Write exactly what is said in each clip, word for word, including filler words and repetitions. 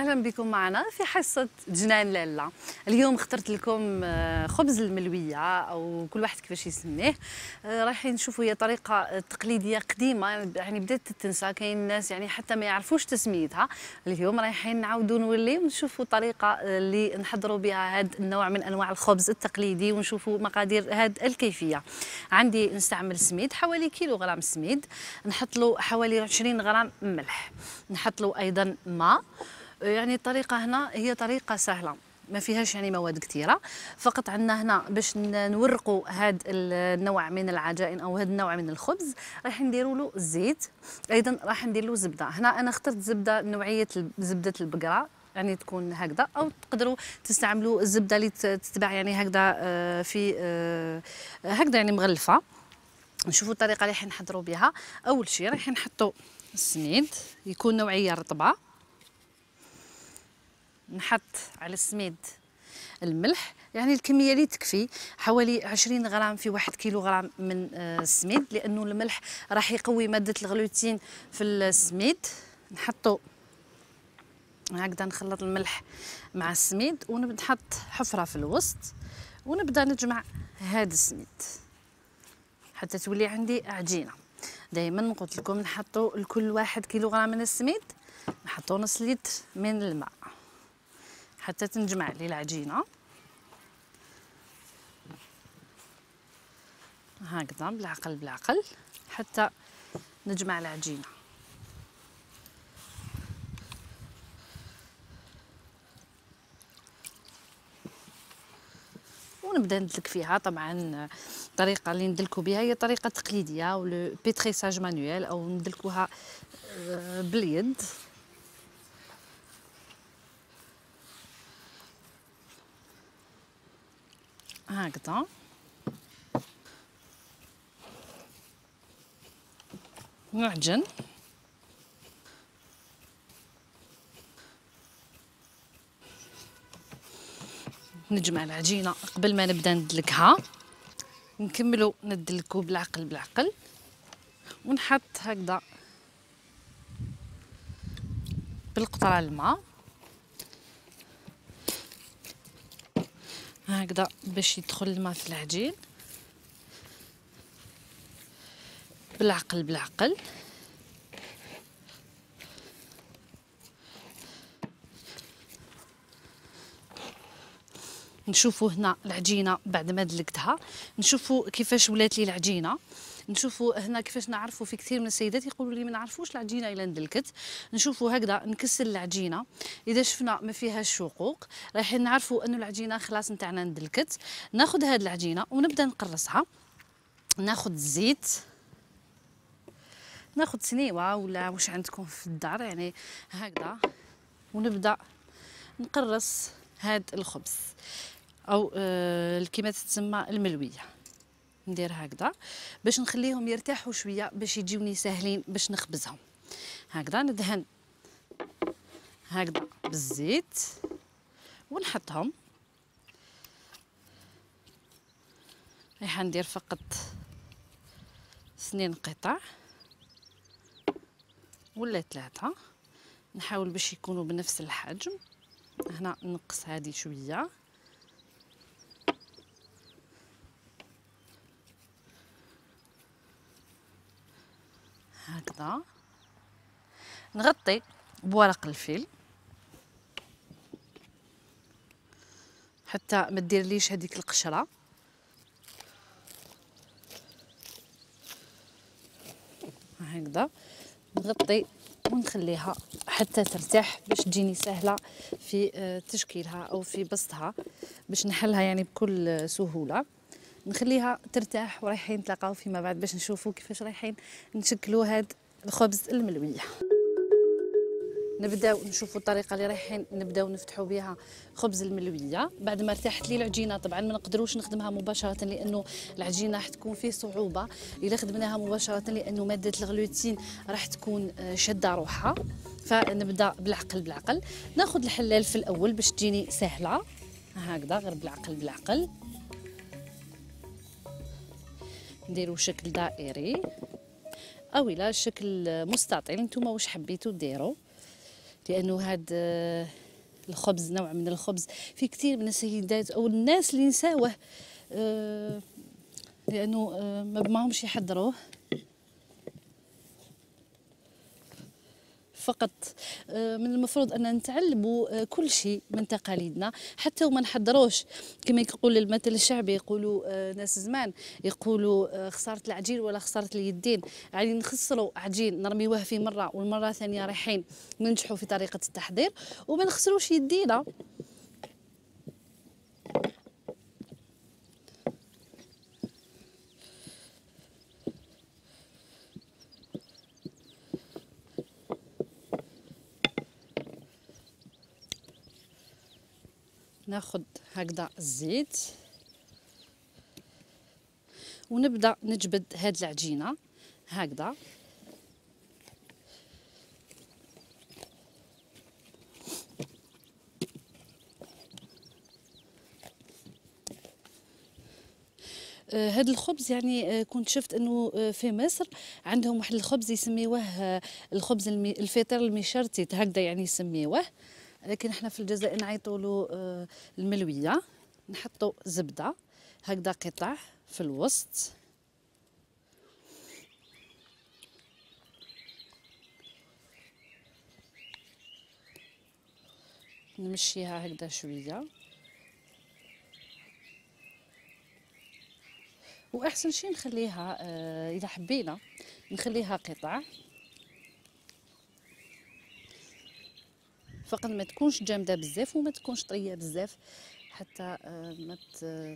اهلا بكم معنا في حصه جنان لاله. اليوم اخترت لكم خبز الملويه او كل واحد كيفاش يسميه. رايحين نشوفوا هي طريقه تقليديه قديمه يعني بدات تنسى، كاين الناس يعني حتى ما يعرفوش تسميتها. اليوم رايحين نعاودوا نوليو نشوفوا طريقه اللي نحضروا بها هذا النوع من انواع الخبز التقليدي ونشوفوا مقادير هذه الكيفيه. عندي نستعمل سميد حوالي كيلو غرام سميد، نحط له حوالي عشرين غرام ملح، نحط له ايضا ماء. يعني الطريقه هنا هي طريقه سهله ما فيهاش يعني مواد كثيره، فقط عندنا هنا باش نورقوا هذا النوع من العجائن او هذا النوع من الخبز راح نديروا له الزيت، ايضا راح ندير له زبده. هنا انا اخترت زبده نوعيه زبده البقره يعني تكون هكذا، او تقدروا تستعملوا الزبده اللي تتباع يعني هكذا في هكذا يعني مغلفه. نشوفوا الطريقه اللي حنحضروا بها. اول شيء راح نحطوا السميد يكون نوعيه رطبه، نحط على السميد الملح يعني الكميه اللي تكفي، حوالي عشرين غرام في واحد كيلو غرام من السميد، لانه الملح راح يقوي ماده الغلوتين في السميد. نحطوا هكذا، نخلط الملح مع السميد ونبدا نحط حفره في الوسط ونبدا نجمع هذا السميد حتى تولي عندي عجينه. دائما قلت لكم نحطوا لكل واحد كيلو غرام من السميد نحطوا نص لتر من الماء حتى تنجمع لي العجينه هكذا بالعقل بالعقل حتى نجمع العجينه. ونبدا ندلك فيها. طبعا الطريقه اللي ندلكوا بها هي طريقه تقليديه او بيتريساج مانويل او ندلكوها باليد. هكذا نعجن. نجمع العجينه قبل ما نبدا ندلكها، نكملوا ندلكوا بالعقل بالعقل ونحط هكذا بالقطره الماء هكذا باش يدخل الماء في العجين بالعقل بالعقل. نشوفوا هنا العجينه بعد ما دلكتها، نشوفوا كيفاش ولات لي العجينه. نشوفوا هنا كيفاش نعرفوا، في كثير من السيدات يقولوا لي ما نعرفوش العجينه الا ندلكت. نشوفوا هكذا نكسر العجينه، اذا شفنا ما فيهاش شقوق رايحين نعرفوا انه العجينه خلاص نتاعنا ندلكت. ناخذ هذه العجينه ونبدا نقرصها. ناخذ الزيت، ناخذ سنيوه ولا واش عندكم في الدار يعني هكذا، ونبدا نقرص هذا الخبز او آه كما تتسمى الملويه. ندير هكذا باش نخليهم يرتاحوا شويه باش يجيوني ساهلين باش نخبزهم. هكذا ندهن هكذا بالزيت ونحطهم. راح ندير فقط اثنين قطع ولا ثلاثه، نحاول باش يكونوا بنفس الحجم. هنا نقص هذه شويه هكذا. نغطي بورق الفيل حتى ما ديرليش هذيك القشره. هكذا نغطي ونخليها حتى ترتاح باش تجيني سهله في تشكيلها او في بسطها، باش نحلها يعني بكل سهوله. نخليها ترتاح ورايحين نتلاقاو فيما بعد باش نشوفوا كيفاش رايحين نشكلوا هذا الخبز الملويه. نبداو نشوفوا الطريقه اللي رايحين نبداو نفتحوا بها خبز الملويه. بعد ما ارتاحت لي العجينه، طبعا ما نقدروش نخدمها مباشره لانه العجينه راح تكون فيه صعوبه اذا خدمناها مباشره، لانه ماده الغلوتين راح تكون شاده روحها. فنبدا بالعقل بالعقل. ناخذ الحلال في الاول باش تجيني سهله هكذا، غير بالعقل بالعقل. نديرو شكل دائري او الى شكل مستطيل، نتوما واش حبيتو ديروا. لانه هذا الخبز نوع من الخبز في كثير من السيدات او الناس اللي نساوه آه لانه آه ما بماهمش يحضروه، فقط من المفروض ان نتعلموا كل شيء من تقاليدنا حتى وما نحضروش. كما يقول المثل الشعبي، يقولوا ناس زمان يقولوا خساره العجين ولا خساره اليدين، يعني نخسروا عجين نرميوه في مره والمره الثانيه رايحين ننجحوا في طريقه التحضير وما نخسروش يدينا. ناخذ هكذا الزيت ونبدا نجبد هاد العجينه هكذا. هاد الخبز يعني كنت شفت انه في مصر عندهم واحد الخبز يسميوه الخبز الفطير المشرتت هكذا يعني يسميوه، لكن احنا في الجزائر نعيطوا له الملويه. نحطوا زبده هكذا قطع في الوسط، نمشيها هكذا شويه، واحسن شيء نخليها آه اذا حبينا نخليها قطع فقط، ما تكونش جامده بزاف وما تكونش طريه بزاف حتى آه ما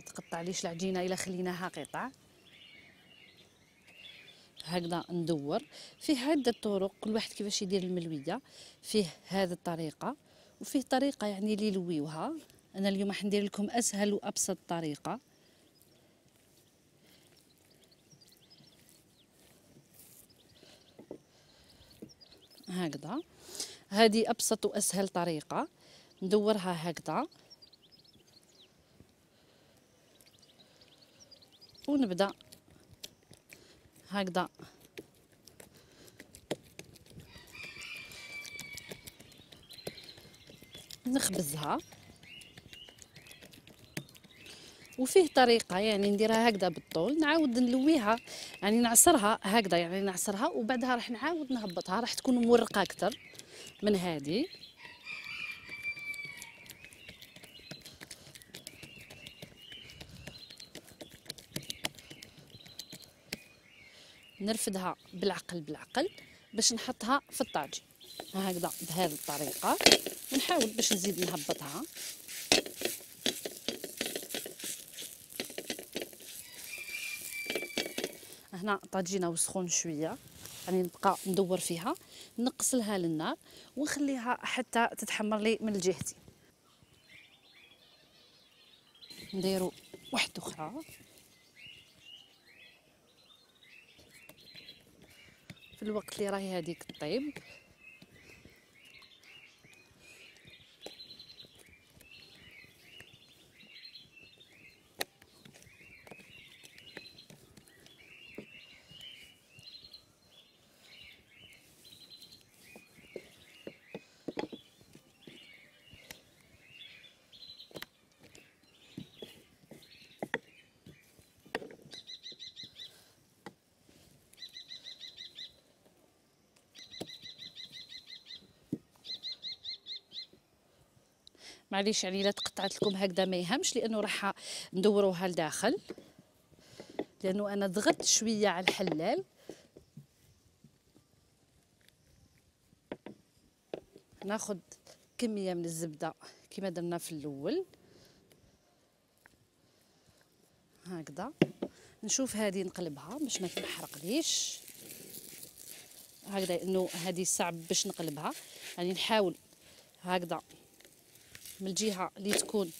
تقطعليش العجينه الا خليناها قطع. هكذا ندور. فيه عده طرق كل واحد كيفاش يدير الملويه، فيه هذه الطريقه وفيه طريقه يعني اللي يلويوها. انا اليوم راح ندير لكم اسهل وابسط طريقه. هكذا هذه ابسط واسهل طريقه، ندورها هكذا ونبدا هكذا نخبزها. وفيه طريقه يعني نديرها هكذا بالطول، نعاود نلويها يعني نعصرها هكذا يعني نعصرها وبعدها راح نعاود نهبطها، راح تكون مورقه اكثر من هذه. نرفدها بالعقل بالعقل باش نحطها في الطاجين هكذا بهذه الطريقه، ونحاول باش نزيد نهبطها. هنا طاجينه وسخون شويه يعني نبقى ندور فيها، نقص لها للنار ونخليها حتى تتحمر لي من الجهتين. نديروا واحده اخرى. في الوقت اللي راهي هذيك طيب معليش يعني لا تقطعت لكم هكذا ما يهمش، لانه راح ندوروها لداخل لانه انا ضغطت شويه على الحلال. ناخذ كميه من الزبده كما درنا في الاول هكذا. نشوف هذه نقلبها باش ما تنحرقليش هكذا، انه هذه صعب باش نقلبها يعني نحاول هكذا من الجهه اللي تكون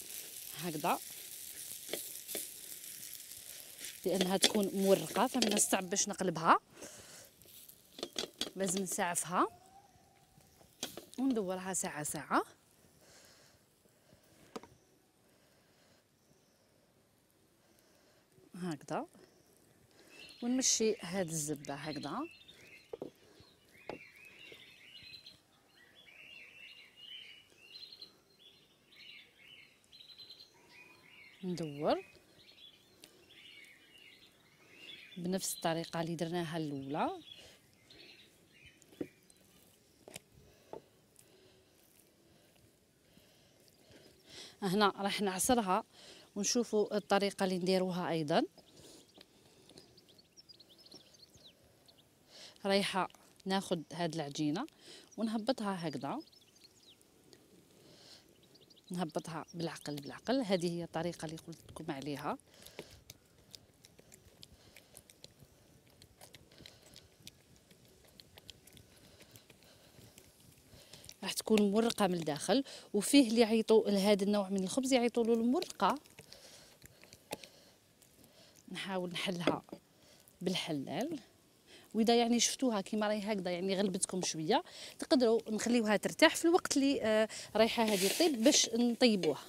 هكذا لانها تكون مورقه، فمن الصعب باش نقلبها، لازم نسعفها وندورها ساعه ساعه هكذا، ونمشي هاد الزبده هكذا ندور بنفس الطريقه اللي درناها الاولى. هنا راح نعصرها ونشوفوا الطريقه اللي نديروها ايضا. رايحه ناخذ هاد العجينه ونهبطها هكذا، نهبطها بالعقل بالعقل. هذه هي الطريقه اللي قلت لكم عليها. راح تكون مورقه من الداخل، وفيه اللي يعيطوا لهذا النوع من الخبز يعيطوا له المرقه. نحاول نحلها بالحلال، واذا يعني شفتوها كيما راهي هكذا يعني غلبتكم شويه، تقدروا نخليوها ترتاح في الوقت اللي آه رايحه هذه طيب باش نطيبوها.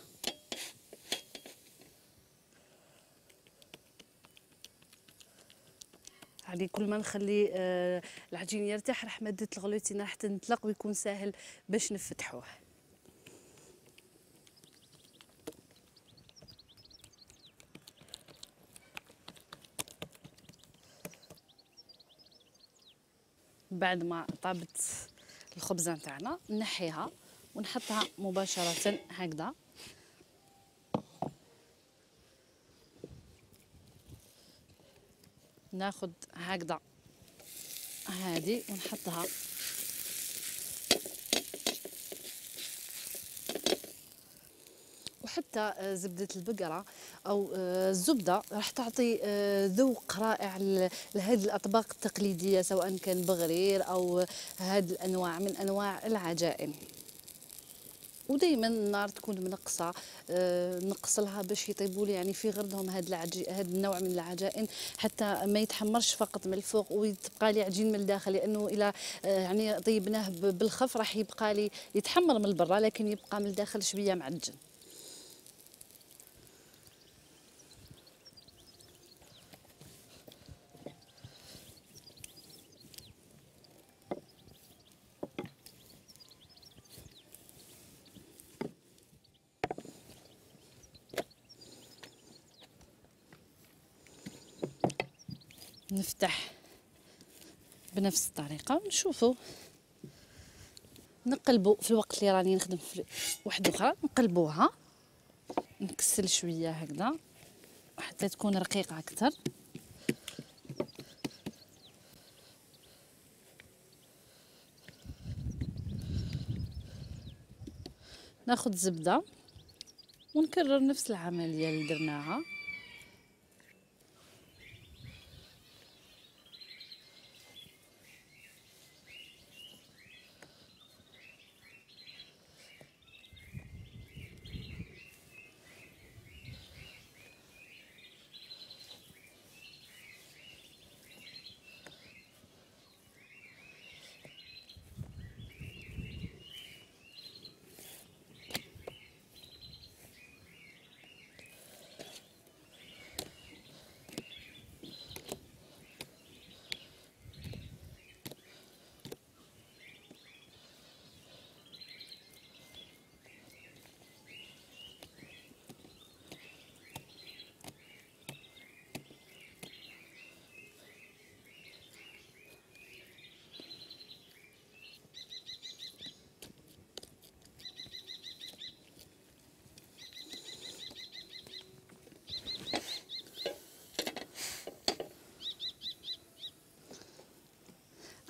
يعني كل ما نخلي آه العجين يرتاح راح ماده الغلوتين راح تنطلق ويكون سهل باش نفتحوه. بعد ما طابت الخبزه نتاعنا نحيها ونحطها مباشره هكذا. ناخذ هكذا هذه ونحطها وحتى زبدة البقرة أو الزبدة راح تعطي ذوق رائع لهذه الأطباق التقليدية، سواء كان بغرير أو هذه الأنواع من أنواع العجائن. ودائما النار تكون منقصه، أه نقص لها باش يطيبوا لي يعني في غردهم هذا العجي هذا النوع من العجائن، حتى ما يتحمرش فقط من الفوق ويتبقى لي عجين من الداخل، لانه الى أه يعني طيبناه بالخف راح يبقى لي يتحمر من برا لكن يبقى من الداخل شويه معجن. نفتح بنفس الطريقه ونشوفوا نقلبوا في الوقت اللي راني نخدم في واحده اخرى، نقلبوها نكسل شويه هكذا حتى تكون رقيقه اكثر. ناخذ زبده ونكرر نفس العمليه اللي درناها.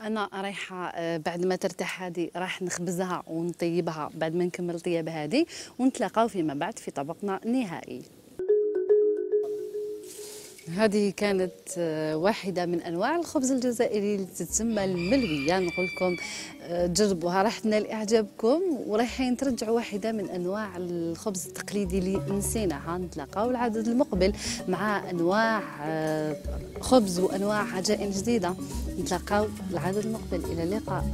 انا رايحه بعد ما ترتاح هذه راح نخبزها ونطيبها بعد ما نكمل طياب هذه، ونتلاقاو فيما بعد في طبقنا النهائي. هذه كانت واحدة من أنواع الخبز الجزائري اللي تتسمى الملوية. نقول لكم جربوها راح تنال إعجابكم، ورايحين ترجعوا واحدة من أنواع الخبز التقليدي اللي نسيناها. نتلاقاو العدد المقبل مع أنواع خبز وأنواع عجائن جديدة. نتلاقاو العدد المقبل، إلى اللقاء.